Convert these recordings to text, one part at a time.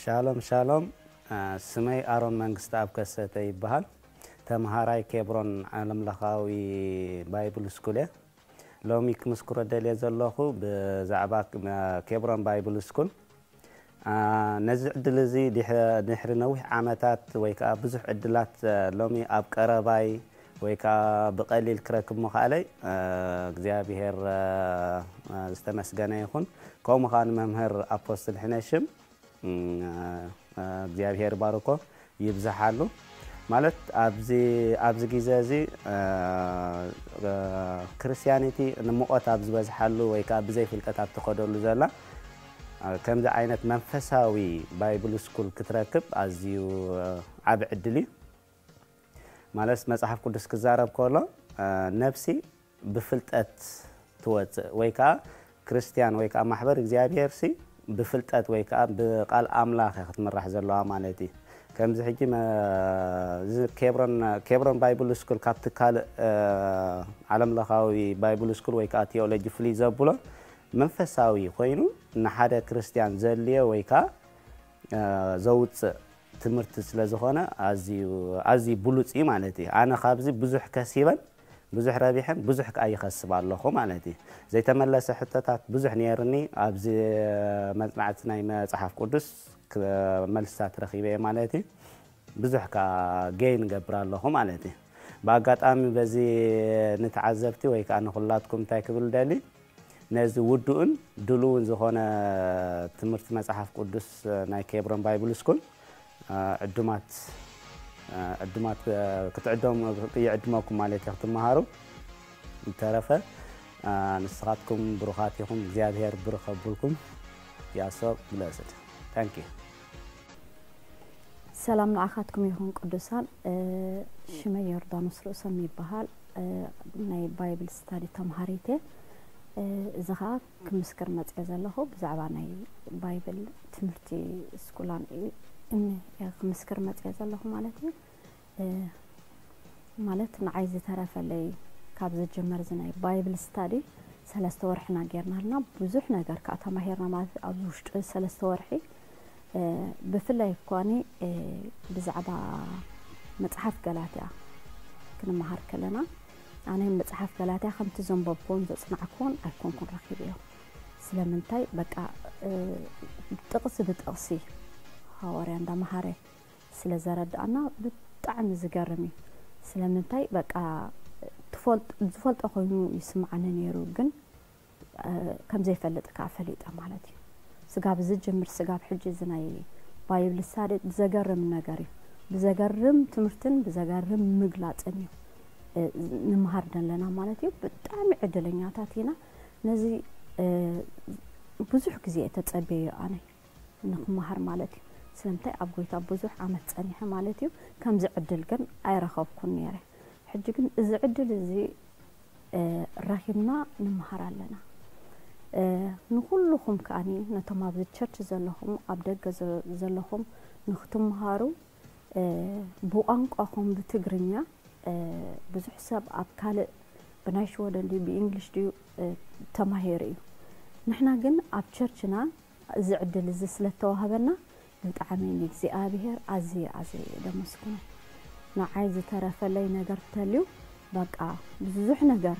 ሻሎም ሻሎም። ስመይ ኣሮን መንግስቲ ኣብ ከሰተ ይበሃል። ተምሃራይ ኬብሮን ዓለምለኻዊ ባይብል ስኩል እየ። ሎሚ ክምስክሮ ደልየ ዘለኹ ብዛዕባ ኬብሮን ባይብል ስኩል። ነዚ ዕድል እዚ ድሕሪ ነዊሕ ዓመታት ወይ ከዓ ብዙሕ ዕድላት ሎሚ ኣብ ቀረባይ ወይ ከዓ ብቐሊል ክረክብ ምኽኣለይ እግዚኣብሔር ዝተመስገነ ይኹን። ከምኡ ከዓ ንመምህር ኣፖስትል ሕነሽም እግዚኣብሔር ባርኮ ይብዝሓሉ። ማለት ኣብዚ ግዜ እዚ ክርስቲያኒቲ ንሙቐት ኣብ ዝበዝሓሉ ወይ ከዓ ብዘይ ፍልጠት ኣብ ትኸደሉ ዘላ ከምዚ ዓይነት መንፈሳዊ ባይብል ስኩል ክትረክብ ኣዝዩ ዓብ ዕድል እዩ። ማለት መፅሓፍ ቅዱስ ክዛረብ ከሎ ነፍሲ ብፍልጠት ትወፅእ ወይ ከዓ ክርስቲያን ወይ ከዓ ማሕበር እግዚኣብሔር ሲ ብፍልጠት ወይ ከዓ ብቃል ኣምላኽ ክትምራሕ ዘለዋ ማለት እዩ። ከምዚ ሕጂ ኬብሮን ባይብል ስኩል ካብቲ ካልእ ዓለምለኻዊ ባይብል ስኩል ወይ ከዓ ቴዎሎጂ ፍልይ ዘብሎ መንፈሳዊ ኮይኑ ንሓደ ክርስቲያን ዘድልዮ ወይ ከዓ ዘውፅእ ትምህርቲ ስለ ዝኾነ ኣዝዩ ብሉፅ እዩ ማለት እዩ። ኣነ ካብዚ ብዙሕ ከሲበን ብዙሕ ረቢሐን ብዙሕ ከዓ ይኸስብ ኣለኹ ማለት እዩ። ዘይተመለሰ ሕቶታት ብዙሕ ነይርኒ። ኣብዚ መፅናዕቲ ናይ መፅሓፍ ቅዱስ መልስታት ረኺበ ማለት እዩ። ብዙሕ ከዓ ገይ ንገብር ኣለኹ ማለት እዩ። ብኣጋጣሚ በዚ ንተዓዘብቲ ወይ ከዓ ንኩላትኩም እንታይ ክብል ደሊ ነዚ ውዱእን ድልውን ዝኾነ ትምህርቲ መፅሓፍ ቅዱስ ናይ ኬብሮን ባይብል ስኩል ዕዱማት ዕዱማት ክትዕደሙ ይዕድመኩም ማለት እዩ ክትመሃሩ። ዝተረፈ ንስኻትኩም ብሩኻት ኢኹም። እግዚኣብሔር ብሩኽ ኣብልኩም። ያሶ ብለስድ ታንኪ። ሰላም ንዓኻትኩም ይኹን ቅዱሳን። ሽመይ ዮርዳኖስ ርእሶም ይበሃል። ናይ ባይብል ስታዲ ተምሃሪት እየ። እዚ ኸዓ ክምስክር መፅየ ዘለኹ ብዛዕባ ናይ ባይብል ትምህርቲ ስኩላን እየ ክምስክር መፅየ ዘለኹ ማለት እዩ። ማለት ንዓይ ዝተረፈለይ ካብ ዝጀመር እዚ ናይ ባይብል ስታዲ ሰለስተ ወርሕና ጌርና ኣለና። ብዙሕ ነገር ከዓ ተማሂርና ማለት ኣብዚ ውሽጢ ሰለስተ ወርሒ ብፍላይ እኳኒ ብዛዕባ መፅሓፍ ገላትያ ክንመሃር ከለና ኣነ መፅሓፍ ገላትያ ከምቲ ዘንበብኩን ዘፅናዕኩን ኣይኮንኩን ረኪብዮ። ስለምንታይ በቃ ጥቕሲ ብጥቕሲ ሃዋርያ እንዳመሃረ ስለ ዘረድኣና ብጣዕሚ ዝገርም እዩ። ስለምንታይ በቃ ዝፈልጦ ኮይኑ ይስምዓኒ ነይሩ ግን ከም ዘይፈልጥ ከዓ ፈሊጠ ማለት እዩ። ስጋብ ዝጅምር ስጋብ ሕጂ እዚ ናይ ባይብል ስታዲ ብዘገርም ነገር እዩ። ብዘገርም ትምህርትን ብዘገርም ምግላፅን እዩ ንምሃር ዘለና ማለት እዩ። ብጣዕሚ ዕድለኛታት ኢና። ነዚ ብዙሕ ግዜ ተፀበዮ ኣነ ንክመሃር ማለት እዩ። ስለምንታይ ኣብ ጎይታ ብዙሕ ዓመት ፀኒሐ ማለት እዩ። ከምዚ ዕድል ግን ኣይረኸብኩን ነይረ። ሕጂ ግን እዚ ዕድል እዚ ረኺብና ንምሃር ኣለና። ንኩልኹም ከዓኒ ነቶም ኣብዚ ቸርች ዘለኹም ኣብ ደገ ዘለኹም ንክትምሃሩ ብቋንቋኹም ብትግርኛ ብዙሕ ሰብ ኣብ ካልእ ብናይ ሽወደን ድዩ ብእንግሊሽ ድዩ ተማሂሩ እዩ። ንሕና ግን ኣብ ቸርችና እዚ ዕድል እዚ ስለ እተዋህበና ብጣዕሚ ንእግዚኣብሄር ኣዝየ ኣዝየ እየ ደመስግኖ። ንዓይ ዝተረፈለይ ነገር ተልዩ በቃ ብዙሕ ነገር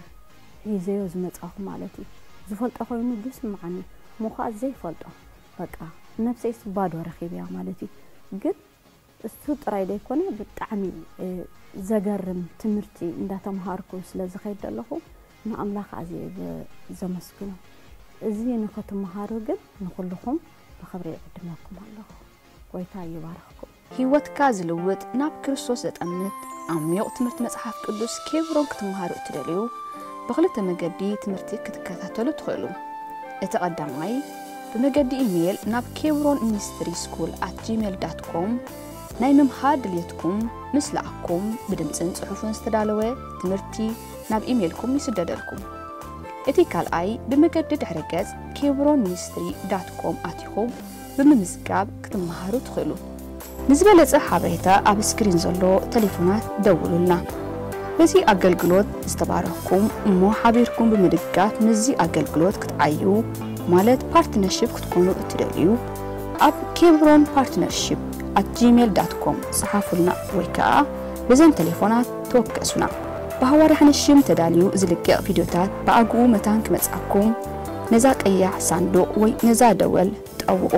ሒዘዮ ዝመጻኹ ማለት እዩ። ዝፈልጦ ኮይኑ ዝስምዓኒ እሞ ኸኣ ዘይፈልጦ በቃ ነብሰይስ ባዶ ረኺበያ ማለት እዩ። ግን እሱ ጥራይ ዘይኮነ ብጣዕሚ ዘገርም ትምህርቲ እንዳተምሃርኩ ስለ ዝኸይድ ዘለኹ ንኣምላኽ ኣዝየ ዘመስግኖ። እዚ ንኽትምሃሩ ግን ንኹልኹም ብኽብሪ ይዕድመኩም ኣለኹ። ጎይታ ይባርኽኩም። ህይወትካ ዝልውጥ ናብ ክርስቶስ ዘጠምት ዓሚቕ ትምህርቲ መጽሓፍ ቅዱስ ኬብሮን ክትምሃሩ እትደልዩ ብኽልተ መገዲ ትምህርቲ ክትከታተሉ ትኽእሉ። እቲ ቀዳማይ ብመገዲ ኢሜይል ናብ ኬብሮን ሚኒስትሪ ስኩል ኣት ጂሜል ዳት ኮም ናይ ምምሃር ድልየትኩም ምስ ለኣኩም ብድምፅን ፅሑፍን ዝተዳለወ ትምህርቲ ናብ ኢሜይልኩም ይስደደልኩም። እቲ ካልኣይ ብመገዲ ድሕረ ገጽ ኬብሮን ሚኒስትሪ ዳት ኮም ኣቲኹም ብምምዝጋብ ክትመሃሩ ትኽእሉ። ንዝበለጸ ሓበሬታ ኣብ ስክሪን ዘሎ ተሌፎናት ደውሉልና። በዚ ኣገልግሎት ዝተባረኽኩም እሞ ሓቢርኩም ብምድጋፍ ምስዚ ኣገልግሎት ክትዓዩ ማለት ፓርትነርሺፕ ክትኮኑ እትደልዩ ኣብ ኬብሮን ፓርትነርሺፕ ኣት ጂሜል ዳት ኮም ጸሓፉልና ወይ ከኣ ብዘን ቴሌፎናት ተወከሱና። ብሃዋርያ ሓንሽም ተዳልዩ ዝልቀቕ ቪድዮታት ብኣግኡ መታን ክመጽኣኩም ነዛ ቀያሕ ሳንዱቕ ወይ ነዛ ደወል ጠውቑ።